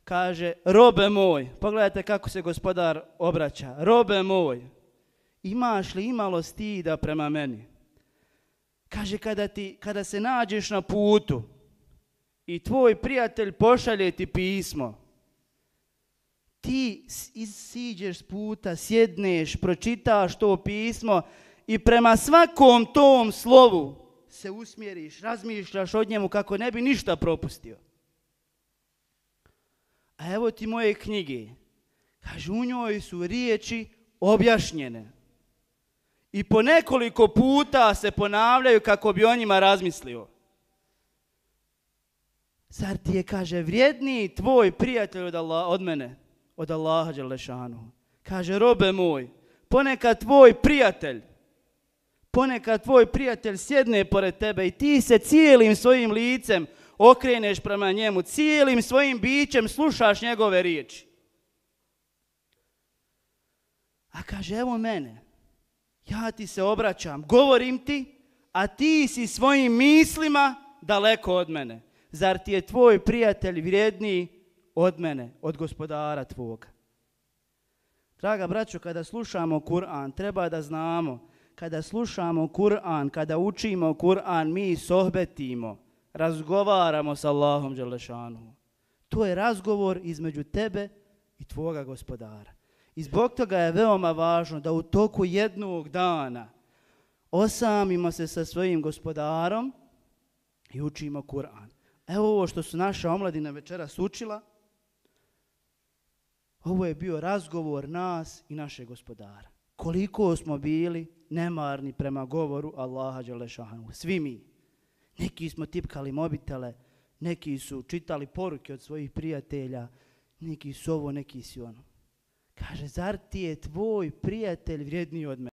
Kaže, robe moj, pogledajte kako se gospodar obraća. Robe moj, imaš li imalo stida prema meni? Kaže, kada se nađeš na putu i tvoj prijatelj pošalje ti pismo, ti siđeš s puta, sjedneš, pročitaš to pismo i prema svakom tom slovu se usmjeriš, razmišljaš o njemu kako ne bi ništa propustio. A evo ti moje knjige. Kaže, u njoj su riječi objašnjene. I po nekoliko puta se ponavljaju kako bi o njima razmislio. Zar ti je, kaže, vrijedniji tvoj prijatelj od mene, od Allaha dželle šanuhu? Kaže, robe moj, ponekad tvoj prijatelj sjedne pored tebe i ti se cijelim svojim licem okreneš prema njemu, cijelim svojim bićem slušaš njegove riječi. A kaže, evo mene, ja ti se obraćam, govorim ti, a ti si svojim mislima daleko od mene. Zar ti je tvoj prijatelj vrijedniji od mene, od gospodara tvoga? Draga braćo, kada slušamo Kur'an, treba da znamo, kada slušamo Kur'an, kada učimo Kur'an, mi sohbetimo, razgovaramo s Allahom dželle šanuhu. To je razgovor između tebe i tvoga gospodara. I zbog toga je veoma važno da u toku jednog dana osamimo se sa svojim gospodarom i učimo Kur'an. Evo ovo što su naša omladina večeras učila, ovo je bio razgovor nas i našeg gospodara. Koliko smo bili nemarni prema govoru Allaha dželle šanuhu. Svi mi. Neki smo tipkali mobitele, neki su čitali poruke od svojih prijatelja, neki su ovo, neki su ono. Kaže, zar ti je tvoj prijatelj vrijedniji od mene?